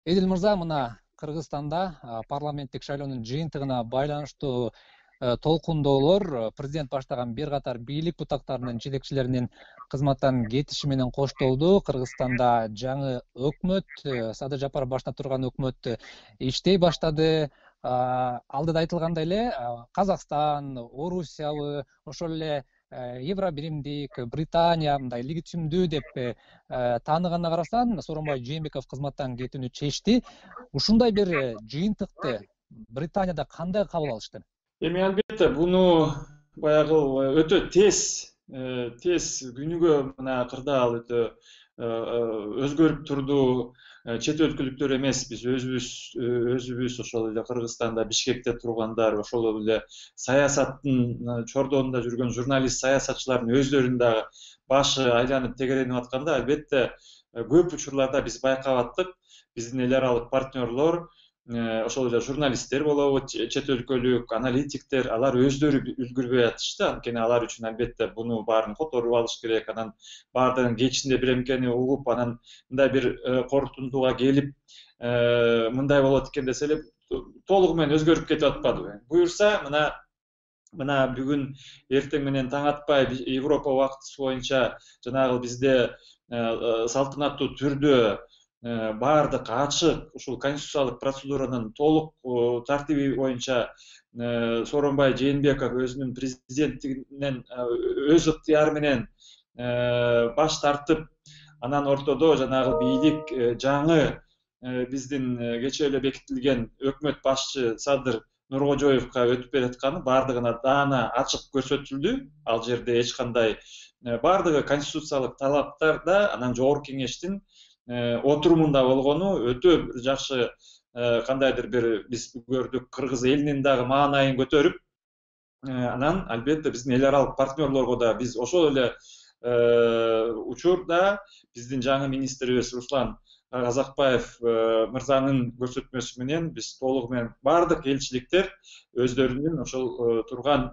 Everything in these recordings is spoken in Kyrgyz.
Эдил мырза, мына Кыргызстанда парламенттик шайлоонун жыйынтыгына байланыштуу толкундоолор президент баштаган бир катар бийлик бутактарынын жетекчилеринин кызматтан кетиши менен коштолду. Кыргызстанда жаңы өкмөт, Садыр Жапаров баштап турган өкмөт иштей баштады. Алдыда айтылгандай эле Казакстан, Орусиябы, ошол эле Евро биримдик, Британия мындай легитимдүү деп тааныганына карасаң, Сооронбай Жээнбеков кызматтан кетүүнү чечти. Ушундай бир жыйынтыкты Британияда кандай кабыл алышты? Эми албетте буну баягы өтө тез күнүгө мына кырдаал өтө өзгөрүп турду. Чет өлкөлүктөр эмес, биз өзүбүз ошол эле Кыргызстанда, Бишкекте тургандар, ошол эле саясаттын чордоонунда жүргөн журналист, саясатчылардын өздөрүнүн дагы башы айланып тегеренип атканда, албетте көп учурларда биз байкап аттык. Биздин эл аралык партнерлор, ошол эле журналисттер болобу, чет өлкөлүк аналитиктер, алар өздөрү үлгүрбөй атышты. Анткени алар үчүн албетте буну баарын которуп алыш керек. Анан баардыгынын кечинде биремкени угуп, анан мындай бир корутундуга келип, мындай болот экен десе эле толугу менен өзгөрүп кетип атпадыбы? Буюрса, мына бүгүн эртең менен таң атпай Европа убактысы боюнча жанагы бизде салтанаттуу түрдө баардык ачык ушул конституциялык процедуранын толук тартиби боюнча Сооронбай Жээнбеков өзүнүн президенттигинен өз ыктыяры менен баш тартып, анан ортодо жанагы бийлик жаңы биздин кечээ эле бекитилген өкмөт башчы Садыр Нуркожоевго өтүп бератканы баардыгына даана ачык көрсөтүлдү. Ал жерде эч кандай баардыгы конституциялык талаптарда, анан жогорку кеңештин отурумунда болгону өтө жакшы, кандайдыр бир биз көрдүк, кыргыз элинин дагы маанайын көтөрүп, анан албетте биздин эл аралык партнерлорго да биз ошол эле учурда биздин жаңы министрибиз Руслан Казакбаев мырзанын көрсөтмөсү менен биз толугу менен баардык элчиликтер өздөрүнүн ошол турган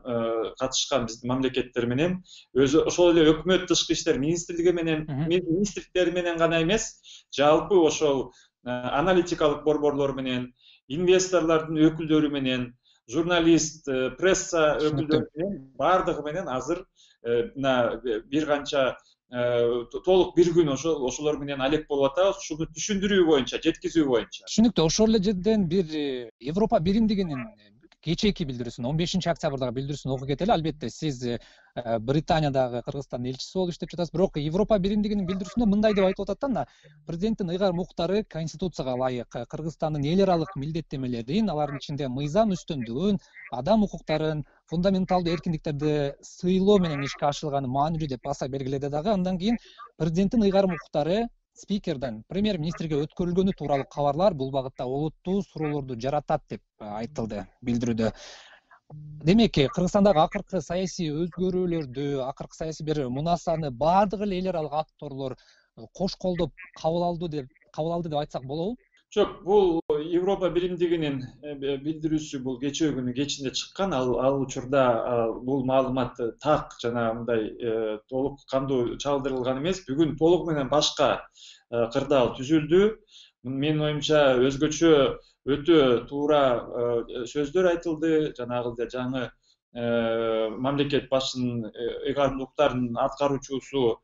катышкан биздин мамлекеттер менен өзү ошол эле өкмөт тышкы иштер министрлиги менен министрликтери менен гана эмес, жалпы ошол аналитикалык борборлор менен, инвесторлордун өкүлдөрү менен, журналист, пресса өкүлдөрү менен баардыгы менен азыр мына бир канча толук бир күн ошолор менен алек болуп атабыз, ушуну түшүндүрүү боюнча, жеткизүү боюнча. Түшүнүктүү. Ошол эле жерден бир Европа биримдигинин кечээки билдирүүсүн, 15-октябрдагы билдирүүсүн окуп кетели. Албетте сиз Британиядагы Кыргызстандын элчиси болуп иштеп жатасыз. Бирок Европа биримдигинин билдирүүсүндө мындай деп айтып атат да, президенттин ыйгарым укуктары конституцияга ылайык Кыргызстандын эл аралык милдеттенмелерин, алардын ичинде мыйзам үстөмдүгүн, адам укуктарын, фундаменталдуу эркиндиктерди сыйлоо менен ишке ашырылганы маанилүү деп баса белгиледи дагы. Андан кийин президенттин ыйгарым укуктары спикерден премьер-министрге өткөрүлгөнү тууралуу кабарлар бул багытта олуттуу суроолорду жаратат деп айтылды билдирүүдө. Демек, Кыргызстандагы акыркы саясий өзгөрүүлөрдү, акыркы саясий бир мунасаны баардык эле эл аралык акторлор кош колдоп кабыл алды деп айтсак болобу? Жок, бул Европа биримдигинин билдирүүсү бул кечээ күнү кечинде чыккан. Ал учурда бул маалымат так жанагындай толук кандуу чалдырылган эмес. Бүгүн толугу менен башка кырдаал түзүлдү. Менин оюмча өзгөчө өтө туура сөздөр айтылды. Жанагы жаңы мамлекет башчынын ыйгарымдуулуктарынын аткаруучусу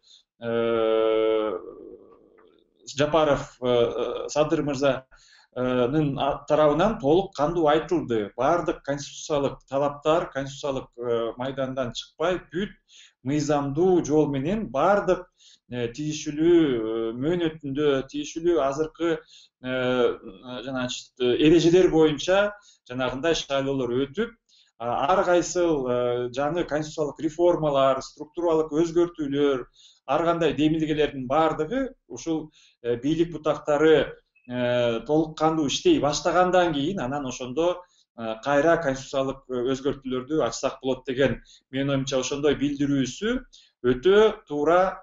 Жапаров Садыр мырзанын тарабынан толук кандуу айтылды. Баардык конституциялык талаптар, конституциялык майдандан чыкпай, бүт мыйзамдуу жол менен баардык тийиштүү мөөнөтүндө, тийиштүү азыркы эрежелер боюнча жанагындай шайлоолор өтүп, ар кайсыл жаңы конституциялык реформалар, структуралык өзгөртүүлөр, ар кандай демилгелердин баардыгы ушул бийлик бутактары толук кандуу иштей баштагандан кийин анан ошондо кайра конституциялык өзгөртүүлөрдү ачсак болот деген менин оюмча ошондой билдирүүсү өтө туура,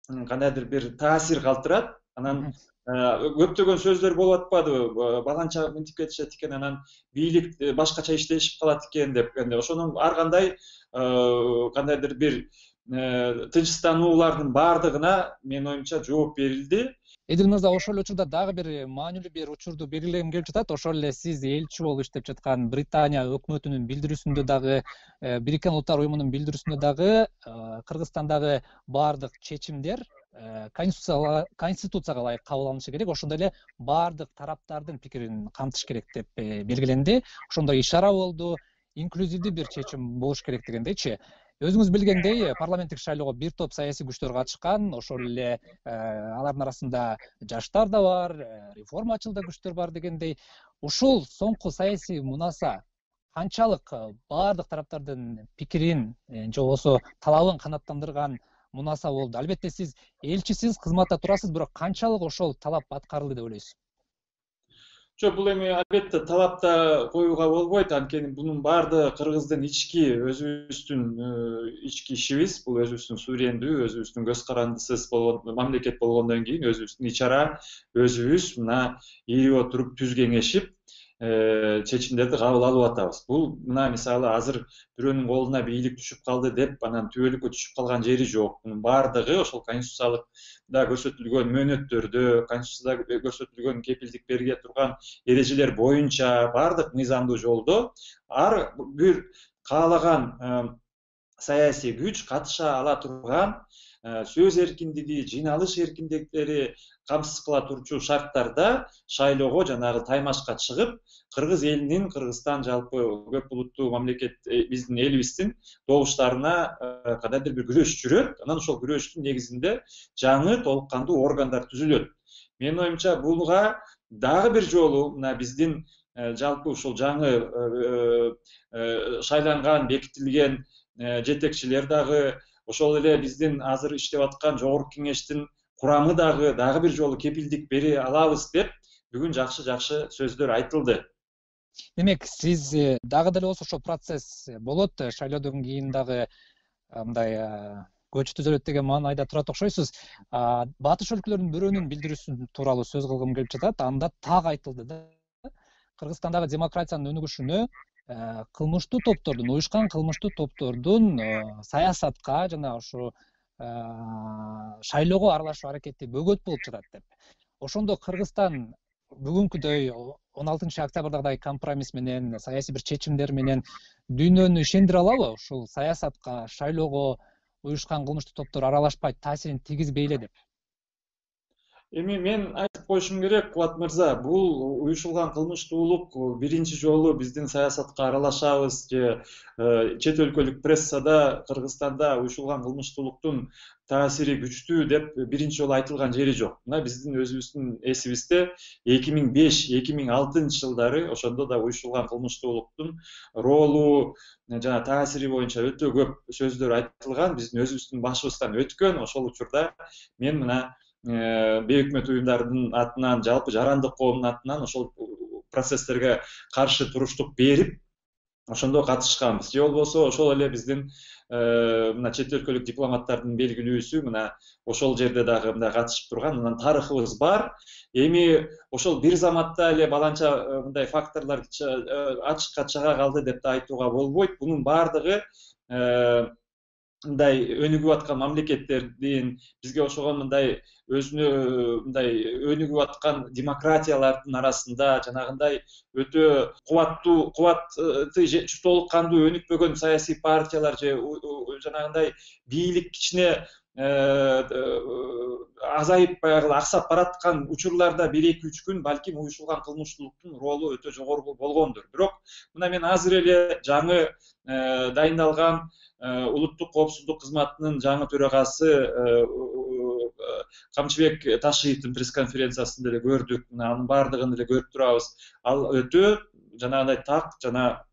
кандайдыр бир таасир калтырат. Анан көптөгөн сөздөр болуп атпадыбы? Баланча мынтип кетишет экен, анан бийлик башкача иштешип калат экен деп. Ошонун ар кандай кандайдыр бир тынчстануулардын баардыгына менин оюмча жооп берилди. Эдил мырза, ошол учурда дагы бир маанилүү бир учурду белгилегим келип жатат. Ошол эле сиз элчи болуп иштеп жаткан Британия өкмөтүнүн билдирүүсүндө дагы, Бириккен Улуттар Уюмунун билдирүүсүндө дагы Кыргызстандагы баардык чечимдер Конституцияга ылайык кабыл алынышы керек, ошондой эле баардык тараптардын пикирин камтыш керек деп белгиленди. Ошондой ишара болду, инклюзивдүү бир чечим болуш керек дегендейчи. Өзүңүз билгендей, парламенттик шайлоого бир топ саясий күчтөр катышкан, ошол эле алардын арасында жаштар да бар, реформачыл да күчтөр бар дегендей. Ушул соңку саясий мунаса канчалык баардык тараптардын пикирин же болбосо талабын канааттандырган мунаса болду? Албетте сиз элчисиз, кызматта турасыз, бирок канчалык ошол талап аткарылды деп ойлойсуз? Жок, бул эми албетте талапта коюуга болбойт, анткени бунун баардыгы кыргыздын өзүбүздүн ички ишибиз, бул өзүбүздүн суверендүү, өзүбүздүн көз карандысыз болгон мамлекет болгондон кийин өзүбүздүн ичара өзүбүз мына ийип отуруп түз кеңешип чечимдерди кабыл алып атабыз. Бул мына мисалы азыр бирөөнүн колуна бийлик түшүп калды деп анан түбөлүккө түшүп калган жери жок. Мунун баардыгы ошол конституциялыкта көрсөтүлгөн мөөнөттөрдө, конституцияда көрсөтүлгөн кепилдик бериле турган эрежелер боюнча баардык мыйзамдуу жолдо ар бир каалаган саясий күч катыша ала турган, сөз эркиндиги, жыйналыш эркиндиктери камсыз кыла турчу шарттарда шайлоого жанагы таймашка чыгып, кыргыз элинин, Кыргызстан жалпы көп улуттуу мамлекет биздин элибиздин добуштарына кандайдыр бир күрөш жүрөт. Анан ошол күрөштүн негизинде жаңы толук кандуу органдар түзүлөт. Менин оюмча буга дагы бир жолу мына биздин жалпы ушул жаңы шайланган, бекитилген жетекчилер дагы, ошол эле биздин азыр иштеп аткан жогорку кеңештин курамы дагы бир жолу кепилдик бере алабыз деп бүгүн жакшы сөздөр айтылды. Демек, сиз дагы деле болсо ошол процесс болот, шайлоодон кийин дагы мындай көч түзөлөт деген маанайда турат окшойсуз. Батыш өлкөлөрүнүн бирөөнүн билдирүүсү тууралуу сөз кылгым келип жатат. Анда так айтылды да, Кыргызстандагы демократиянын өнүгүшүнө кылмыштуу топтордун, уюшкан кылмыштуу топтордун саясатка жана ушу шайлоого аралашуу аракети бөгөт болуп жатат деп. Ошондо Кыргызстан бүгүнкүдөй 16 октябрдагы компромисс менен, саясий бир чечимдер менен дүйнөнү ишендире алабы ушул саясатка, шайлоого уюшкан кылмыштуу топтор аралашпай таасирин тийгизбей эле деп? Эми мен айтып коюшум керек, Кубат мырза, бул уюшулган кылмыштуулук биринчи жолу биздин саясатка аралашабыз же чет өлкөлүк прессада Кыргызстанда уюшулган кылмыштуулуктун таасири күчтүү деп биринчи жолу айтылган жери жок. Мына биздин өзүбүздүн эсибизде 2005-2006 жылдары ошондо да уюшулган кылмыштуулуктун ролу жана таасири боюнча өтө көп сөздөр айтылган, биздин өзүбүздүн башыбыздан өткөн. Ошол учурда мен мына бейөкмөт уюмдардын атынан, жалпы жарандык коомдун атынан ошол процесстерге каршы туруштук берип, ошондо катышканбыз. Же болбосо ошол эле биздин мына чет өлкөлүк дипломаттардын белгилүүсү мына ошол жерде дагы мындай катышып турган анан тарыхыбыз бар. Эми ошол бир заматта эле баланча мындай факторлор ачыкка чыга калды деп да айтууга болбойт. Бунун баардыгы мындай өнүгүп аткан мамлекеттердин, бизге окшогон мындай өзүнө мындай өнүгүп аткан демократиялардын арасында жанагындай өтө кубатты же толук кандуу өнүкпөгөн саясий партиялар же жанагындай бийлик кичине азайып баягы аксап бараткан учурларда 1-2-3 күн балким уюшулган кылмыштуулуктун ролу өтө жогору болгондур. Бирок мына мен азыр эле жаңы дайындалган улуттук коопсуздук кызматынын жаңы төрагасы Камчыбек Ташиевдин пресс-конференциясында эле көрдүк. Мына анын баардыгын эле көрүп турабыз. Ал өтө жанагындай так жана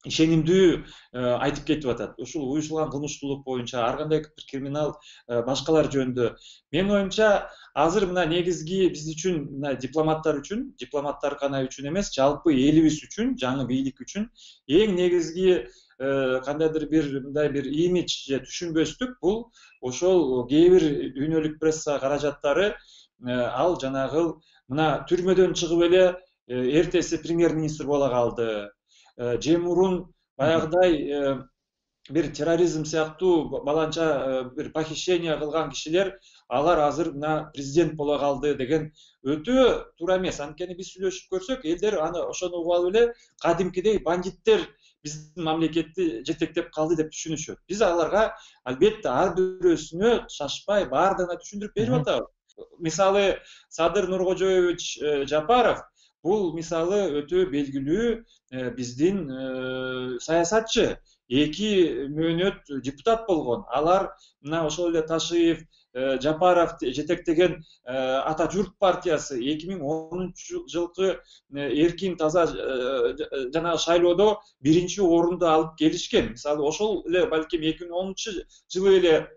ишенимдүү айтып кетип атат. Ушул уюшулган кылмыштуулук боюнча, ар кандай бир криминал башкалар жөнүндө. Менин оюмча, азыр мына негизги биз үчүн, мына дипломаттар гана үчүн эмес, жалпы элибиз үчүн, жаңы бийлик үчүн эң негизги кандайдыр бир мындай бир имидж же түшүнбөстүк бул ошол кээ бир дүйнөлүк пресса каражаттары ал жанагы мына түрмөдөн чыгып эле эртеси премьер-министр боло калды. Же мурун баягыдай бир терроризм сыяктуу баланча бир похищение кылган кишилер алар азыр мына президент боло калды деген өтө туура эмес. Анткени биз сүйлөшүп көрсөк, элдер аны ошону угуп алып эле кадимкидей бандиттер биздин мамлекетти жетектеп калды деп түшүнүшөт. Биз аларга албетте ар бирөөсүнө шашпай баардыгына түшүндүрүп берип атабыз. Мисалы Садыр Нуркожоевич Жапаров бул мисалы өтө белгилүү биздин саясатчы, 2 мөөнөт депутат болгон. Алар мына ошол эле Ташиев, Жапаров жетектеген Ата Журт партиясы 2010-жылкы эркин таза жанагы шайлоодо 1-орунду алып келишкен. Мисалы ошол эле балким 2010-жылы эле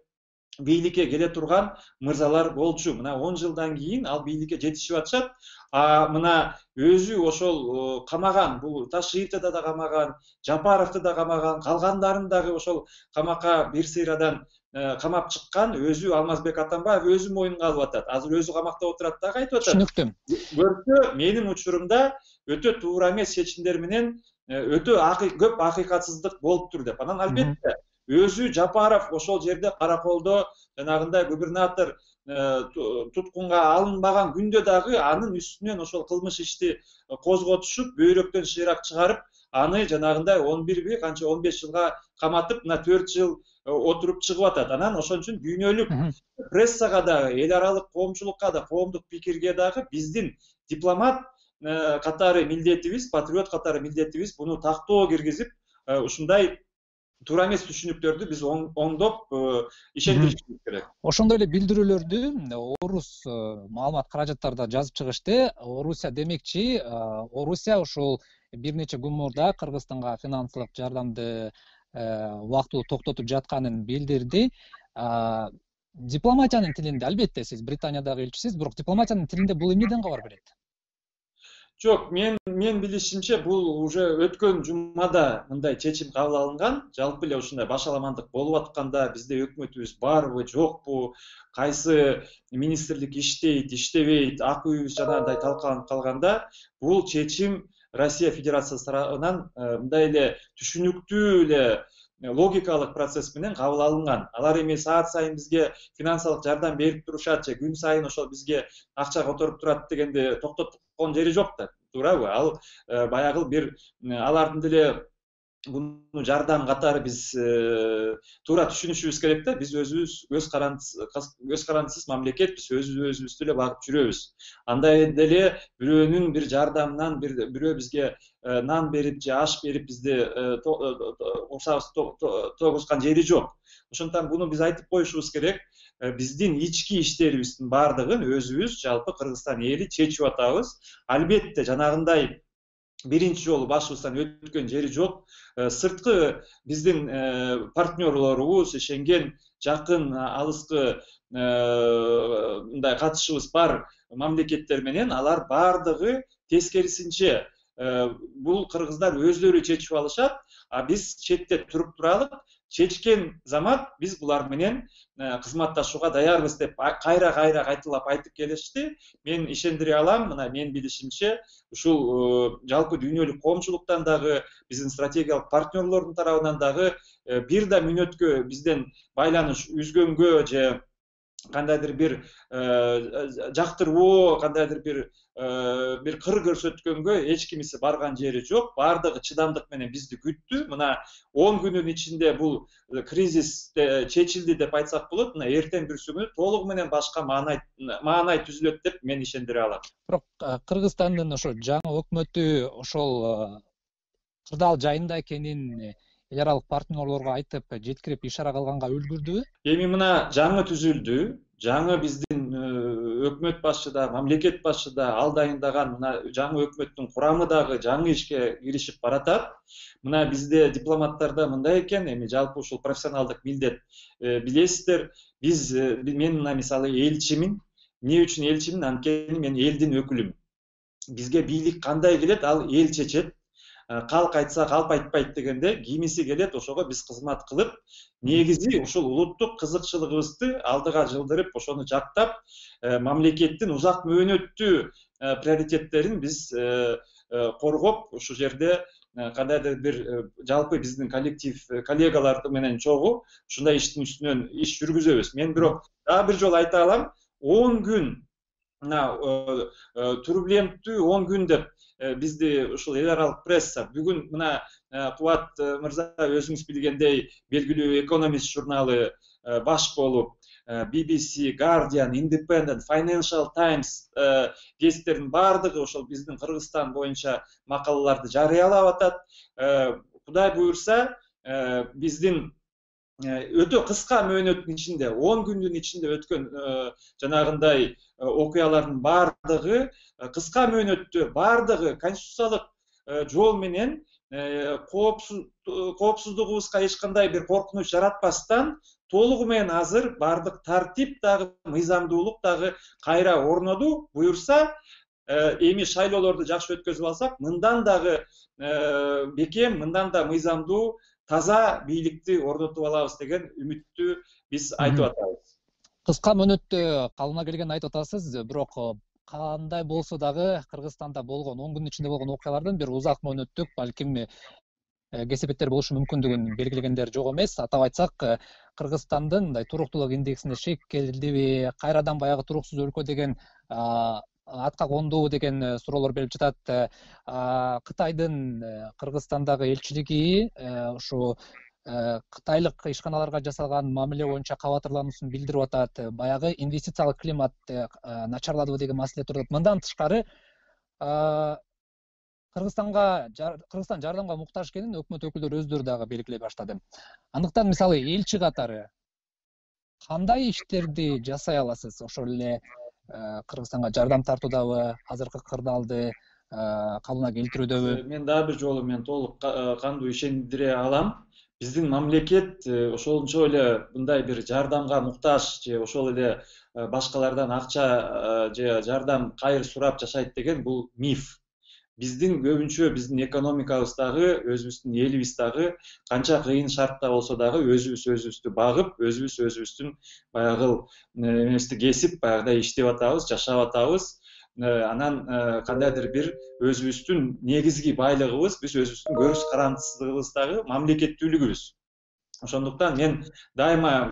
бийликке келе турган мырзалар болчу. Мына 10 жылдан кийин ал бийликке жетишип атышат. Мына өзү ошол камаган, бул Ташиевди да камаган, Жапаровду да камаган, калгандарын дагы ошол камакка бир сыйрадан камап чыккан өзү Алмазбек Атамбаев өзү моюнга алып атат. Азыр өзү камакта отурат дагы айтып атат. Түшүнүктүү. Көрсө, менин учурумда өтө туура эмес чечимдер менен өтө көп акыйкатсыздык болуптур деп. Анан албетте өзү Жапаров ошол жерде Караколдо жанагындай губернатор туткунга алынбаган күндө дагы анын үстүнөн ошол кылмыш ишти козготушуп, бөйрөктөн шыйрак чыгарып, аны жанагындай 11 канча 15 жылга каматып, мына 4 жыл отуруп чыгып атат. Анан ошон үчүн дүйнөлүк прессага дагы, эл аралык коомчулукка да, коомдук пикирге дагы биздин дипломат катары милдетибиз, патриот катары милдетибиз буну тактоо киргизип, ушундай туура эмес түшүнүктөрдү биз оңдоп ишендиришибиз керек. Ошондой эле билдирүүлөрдү Орус маалымат каражаттарда жазып чыгышты. Орусия демекчи, Орусия ушул бир нече күн мурда Кыргызстанга финансылык жардамды убактылуу токтотуп жатканын билдирди. Дипломатиянын тилинде, албетте сиз Британиядагы элчисиз, бирок дипломатиянын тилинде бул эмнеден кабар берет? Жок, мен билишимче бул уже өткөн жумада мындай чечим кабыл алынган. Жалпы эле ушундай башаламандык болуп атканда бизде өкмөтүбүз барбы, жокпу, кайсы министрлик иштейт, иштебейт, ак үйүбүз жанагындай талкаланып калганда, бул чечим Россия Федерациясы тарабынан мындай эле түшүнүктүү эле логикалык процесс менен кабыл алынган. Алар эми саат сайын бизге финансылык жардам берип турушат же күн сайын ошол бизге акча которуп турат дегенде токтоткон жери жок да, туурабы? Ал баягы бир алардын деле буну жардам катары биз туура түшүнүшүбүз керек да. Биз өзүбүз көз карандысыз мамлекетпиз, өзүбүздү эле багып жүрөбүз. Андай деле бирөөнүн бир жардамынан бирөө бизге нан берип же аш берип бизди курсабыз тогузган жери жок. Ошондуктан буну биз айтып коюшубуз керек. Биздин ички иштерибиздин баардыгын өзүбүз жалпы Кыргызстан эли чечип атабыз. Албетте жанагындай биринчи жолу башыбыздан өткөн жери жок. Сырткы биздин партнерлорубуз, ишенген жакын алыскы мындай катышыбыз бар мамлекеттер менен алар баардыгы тескерисинче бул кыргыздар өздөрү чечип алышат, а биз четте туруп туралык. Чечкен замат биз булар менен кызматташууга даярбыз деп кайра кайталап айтып келишти. Мен ишендире алам, мына мен билишимче ушул жалпы дүйнөлүк коомчулуктан дагы, биздин стратегиялык партнерлордун тарабынан дагы бир да мүнөткө бизден байланыш үзгөнгө же кандайдыр бир жактырбоо, кандайдыр бир кыр көрсөткөнгө эч кимиси барган жери жок. Баардыгы чыдамдык менен бизди күттү. Мына 10 күнүн ичинде бул кризис чечилди деп айтсак болот. Мына эртең бүрсүгүнү толугу менен башка маанай түзүлөт деп мен ишендире алам. Бирок Кыргызстандын ошо жаңы өкмөтү ошол кырдаал жайында экенин эл аралык партнерлорго айтып, жеткирип ишара кылганга үлгүрдүбү? Эми мына жаңы түзүлдү. Жаңы биздин өкмөт башы да, мамлекет башы да ал дайындаган мына жаңы өкмөттүн курамы дагы жаңы ишке киришип баратат. Мына бизде дипломаттарда мындай экен, эми жалпы ушул профессионалдык милдет билесиздер. Мен мына мисалы элчимин. Эмне үчүн элчимин? Анткени мен элдин өкүлүмүн. Бизге бийлик кандай келет, ал эл чечет. Калк айтса калп айтпайт дегенде, кимиси келет, ошого биз кызмат кылып, негизи ушул улуттук кызыкчылыгыбызды алдыга жылдырып, ошону жактап, мамлекеттин узак мөөнөттүү приоритеттерин биз коргоп, ушул жерде кандайдыр бир жалпы биздин коллегалар менен чогуу ушундай иштин үстүнөн иш жүргүзөбүз. Мен бирок дагы бир жолу айта алам, 10 күн мына турбуленттүү 10 күн деп бизди ушул эл аралык пресса бүгүн мына Кубат мырза өзүңүз билгендей белгилүү Economist журналы баш болуп, BBC, Guardian, Independent, Financial Times гезиттердин баардыгы ошол биздин Кыргызстан боюнча макалаларды жарыялап атат. Кудай буюрса, биздин өтө кыска мөөнөттүн ичинде, 10 күндүн ичинде өткөн жанагындай окуялардын баардыгы кыска мөөнөттө баардыгы конституциялык жол менен коопсуздугубузга эч кандай бир коркунуч жаратпастан толугу менен азыр баардык тартип дагы мыйзамдуулук дагы кайра орноду. Буюрса, эми шайлоолорду жакшы өткөзүп алсак, мындан дагы бекем, мындан да мыйзамдуу, таза бийликти орнотуп алабыз деген үмүттү биз айтып атабыз. Кыска мөөнөттө калыбына келгенин айтып атасыз, бирок кандай болсо дагы Кыргызстанда болгон 10 күндүн ичинде болгон окуялардан бир узак мөөнөттүк, балким кесепеттер болушу мүмкүндүгүн белгилегендер жок эмес. Атап айтсак, Кыргызстандын мындай туруктуулук индексинде шекелдиби, кайрадан баягы туруксуз өлкө деген атка кондубу деген суроолор берип жатат. Кытайдын Кыргызстандагы элчилиги ушу кытайлык ишканаларга жасалган мамиле боюнча кабатырлануусун билдирип атат. Баягы инвестициялык климат начарладыбы деген маселе туруп атат. Мындан тышкары, Кыргызстан жардамга муктаж экенин өкмөт өкүлдөрү өздөрү дагы белгилей баштады. Андыктан мисалы элчи катары кандай иштерди жасай аласыз? Ошол эле Кыргызстанга жардам тартуудабы, азыркы кырдаалды калыбына келтирүүдөбү? Мен дагы бир жолу толук кандуу ишендире алам. Биздин мамлекет ошончо эле мындай бир жардамга муктаж же ошол эле башкалардан акча же жардам кайыр сурап жашайт деген бул миф. Биздин көбүнчө биздин экономикабыз дагы, өзүбүздүн элибиз дагы канча кыйын шартта болсо дагы өзүбүздү багып, өзүбүздүн баягы эмебизди кесип, баягыдай иштеп атабыз, жашап атабыз. Анан кандайдыр бир өзүбүздүн негизги байлыгыбыз, биз өзүбүздүн көз карандысыздыгыбыз дагы мамлекеттүүлүгүбүз. Ошондуктан мен дайыма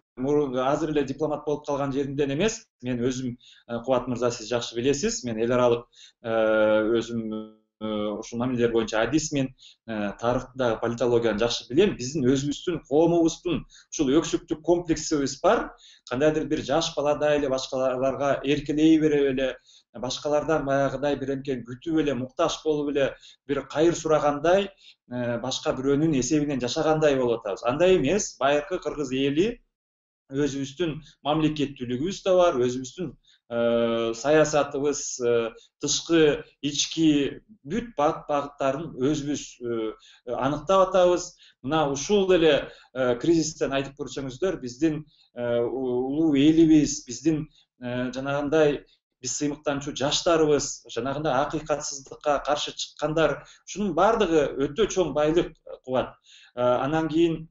азыр эле дипломат болуп калган жеримден эмес, мен өзүм, Кубат мырза, сиз жакшы билесиз, мен эл аралык өзүм ушул мамилелер боюнча адисмин, тарыхты дагы, политологияны жакшы билем. Биздин өзүбүздүн коомубуздун ушул өксүктүк комплексибиз бар. Кандайдыр бир жаш баладай эле башкаларга эркелей берип эле, башкалардан баягыдай бир эмкен күтүп эле, муктаж болуп эле, бир кайыр сурагандай, башка бирөөнүн эсебинен жашагандай болуп атабыз. Андай эмес, байыркы кыргыз эли өзүбүздүн мамлекеттүүлүгүбүз да бар, өзүбүздүн саясатыбыз, тышкы, ички бүт багыттарын өзүбүз аныктап атабыз. Мына ушул эле кризистен айтып көрсөңүздөр, биздин улуу элибиз, биздин жанагындай биз сыймыктанчу жаштарыбыз, жанагындай акыйкатсыздыкка каршы чыккандар, ушунун баардыгы өтө чоң байлык кубат. Анан кийин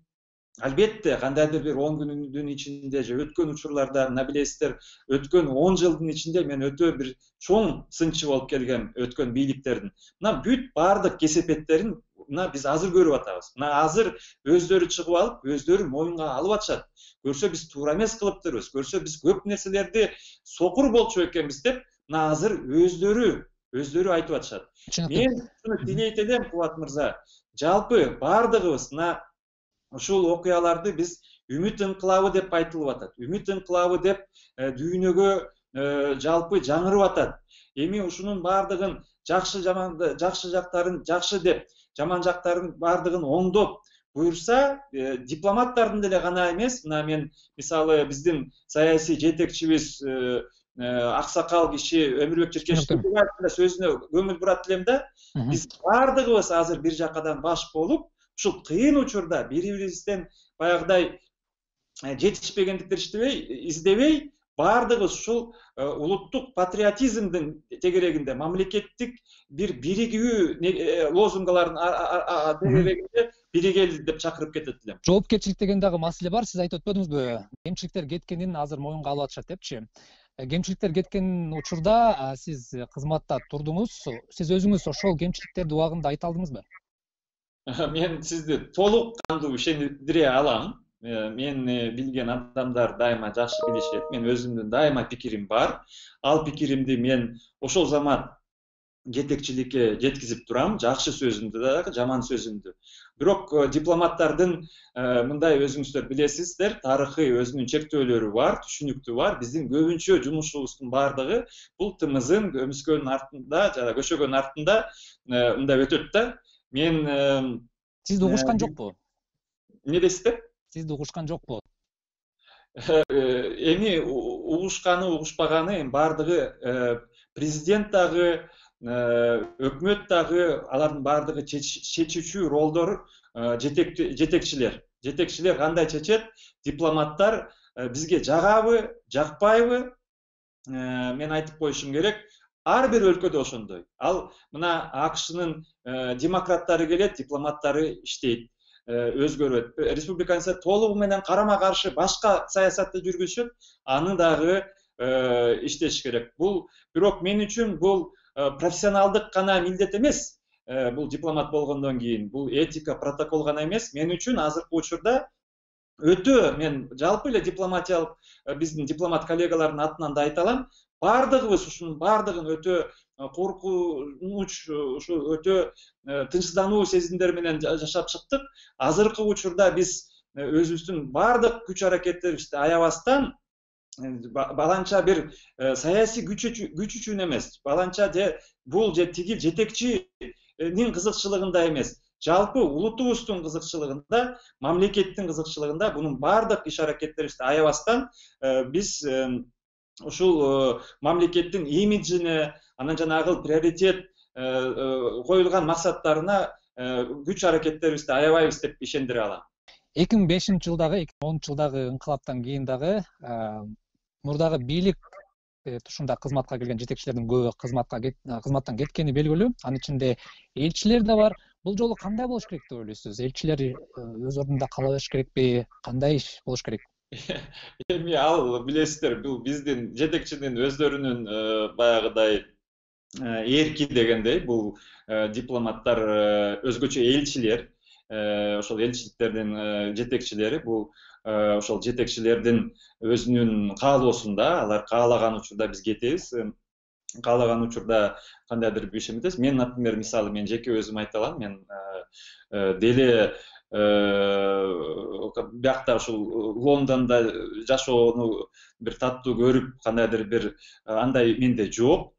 албетте кандайдыр бир 10 күндүн ичинде же өткөн учурларда, мына билесиздер, өткөн 10 жылдын ичинде мен өтө бир чоң сынчы болуп келгем өткөн бийликтердин. Мына бүт баардык кесепеттерин мына биз азыр көрүп атабыз. Мына азыр өздөрү чыгып алып, өздөрү моюнга алып атышат. Көрсө биз туура эмес кылыптырбыз, көрсө биз көп нерселерди сокур болчу экенбиз деп, мына азыр өздөрү айтып атышат. Мен ушуну тилейт элем, Кубат мырза, жалпы баардыгыбыз мына ушул окуяларды биз үмүт инкылабы деп айтылып атат. Үмүт инкылабы деп дүйнөгө жалпы жаңырып атат. Эми ушунун баардыгын жакшы жактарын жакшы деп, жаман жактарын баардыгын оңдоп буюрса, дипломаттардын деле гана эмес, мына мен мисалы биздин саясий жетекчибиз аксакал киши Өмүрбек Черкешевдин сөзүнө көңүл бурат элем да, биз баардыгыбыз азыр бир жакадан баш болуп, ушул кыйын учурда бири-бирибизден баягыдай жетишпегендиктерди издебей, баардыгыбыз ушул улуттук патриотизмдин тегерегинде, мамлекеттик бир биригүү лозунгаларын тегерегинде биригели деп чакырып кетет элем. Жоопкерчилик деген дагы маселе бар, сиз айтып өтпөдүңүзбү? Кемчиликтер кеткенин азыр моюнга алып атышат депчи. Кемчиликтер кеткен учурда сиз кызматта турдуңуз. Сиз өзүңүз ошол кемчиликтерди убагында айта алдыңызбы? Мен сизди толук кандуу ишендире алам. Мени билген адамдар дайыма жакшы билишет. Мен өзүмдүн дайыма пикирим бар. Ал пикиримди мен ошол замат жетекчиликке жеткизип турам, жакшы сөзүмдү дагы, жаман сөзүмдү. Бирок дипломаттардын мындай өзүңүздөр билесиздер, тарыхый өзүнүн чектөөлөрү бар, түшүнүктүү бар. Биздин көбүнчө жумушубуздун бардыгы бул тымыздын көмүскөнүн артында, жана көшөгөнүн артында мындай өтөт да. Мен Сизди угушкан жокпу? эмне дейсиздер? Сизди угушкан жокпу? Эми угушканы, угушпаганы бардыгы президент дагы, өкмөт дагы, алардын бардыгы чечүүчү ролдор жетекчилер. Жетекчилер кандай чечет? Дипломаттар бизге жагабы, жакпайбы? Мен айтып коюшум керек. Ар бир өлкөдө ошондой. Ал мына АКШнын демократтары келет, дипломаттары иштейт, өзгөрөт. Республиканцы толугу менен карама каршы башка саясатты жүргүзүшөт, аны дагы иштеш керек. Бул бирок мен үчүн бул профессионалдык гана милдет эмес. Бул дипломат болгондон кийин бул этика, протокол гана эмес. Мен үчүн азыркы учурда өтө, мен жалпы эле дипломатиялык биздин дипломат коллегалардын атынан да айта алам, бардыгыбыз ушунун бардыгын өтө коркунуч, ушу өтө тынчсыздануу сезимдери менен жашап чыктык. Азыркы учурда биз өзүбүздүн бардык күч аракеттерибизди аябастан, баланча бир саясий күч үчүн эмес, баланча бул тиги жетекчинин кызыкчылыгында эмес, жалпы улутубуздун кызыкчылыгында, мамлекеттин кызыкчылыгында бунун бардык иш аракеттерибизди аябастан биз ушул мамлекеттин имиджине, анан жанагы приоритет коюлган максаттарына күч аракеттерибизди аябайбыз деп ишендире алам. 2005-жылдагы, 2010-жылдагы инкылаптан кийин дагы мурдагы бийлик тушунда кызматка келген жетекчилердин көбү кызматтан кеткени белгилүү. Анын ичинде элчилер да бар. Бул жолу кандай болуш керек деп ойлойсуз? Элчилер өз ордунда кала бериш керекпи? Кандай иш болуш керек? Эми ал билесиздер, бул биздин жетекчинин өздөрүнүн баягыдай эрки дегендей, бул дипломаттар өзгөчө элчилер, ошол элчиликтердин жетекчилери, бул ошол жетекчилердин өзүнүн каалоосунда, алар каалаган учурда биз кетебиз, каалаган учурда кандайдыр бир иш эметебиз. Мен, например, мисалы, мен жеке өзүм айта алам, мен деле биякта ушул Лондондо жашоону бир таттуу көрүп, кандайдыр бир андай менде жок.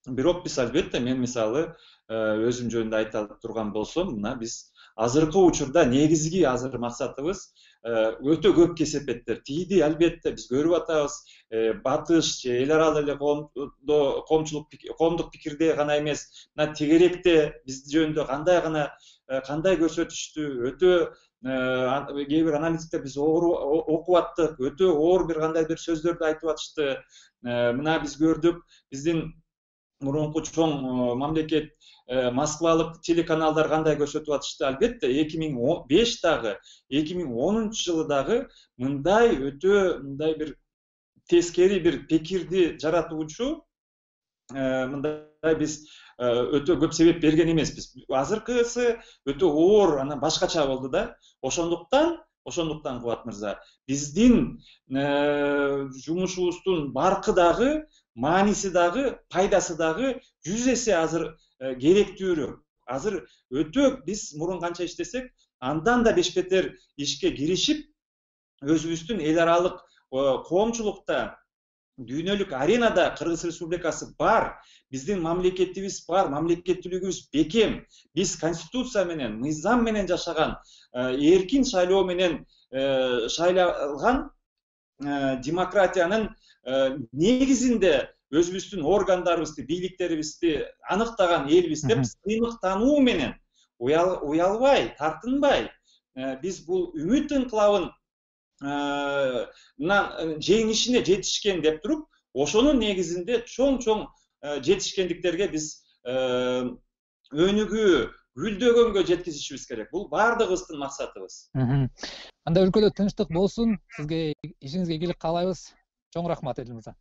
Бирок биз албетте, мен мисалы өзүм жөнүндө айта турган болсом, мына биз азыркы учурда негизги азыр максатыбыз өтө көп кесепеттер. Тиди албетте биз көрүп атабыз, батыш, эл аралык эле коомдук пикирде гана эмес, мына тегеректе биз жөнүндө кандай көрсөтүштү, өтө кээ бир аналитиктер биз окуп аттык, өтө оор бир кандай бир сөздөрдү айтып атышты. Мына биз көрдүк, биздин мурунку чоң мамлекет Москвалык телеканалдар кандай көрсөтүп атышты. Албетте 2005 дагы, 2010-жылы дагы мындай бир тескери бир пикирди жаратуучу мындай биз өтө көп себеп берген эмеспиз. Азыркысы өтө оор, анан башкача болду да. Ошондуктан Кубат мырза, биздин жумушубуздун баркы дагы, мааниси дагы, пайдасы дагы 100 эсе азыр керектүүрөөк. Азыр өтө биз мурун канча иштесек, андан да бешбетер ишке киришип, өзүбүздүн эл аралык коомчулукта, дүйнөлүк аренада Кыргыз Республикасы бар, биздин мамлекетибиз бар, мамлекеттүүлүгүбүз бекем, биз конституция менен, мыйзам менен жашаган, эркин шайлоо менен шайлалган демократиянын негизинде өзүбүздүн органдарыбызды, бийликтерибизди аныктаган элбиз деп сыймыктануу менен уялбай, тартынбай, биз бул үмүт инкылабын жеңишине жетишкен деп туруп, ошонун негизинде чоң жетишкендиктерге биз өнүгүү, гүлдөгөнгө жеткизишибиз керек. Бул бардыгыбыздын максатыбыз. Анда өлкөдө тынчтык болсун. Сизге ишиңизге ийгилик каалайбыз. Чоң рахмат, Эдил мырза.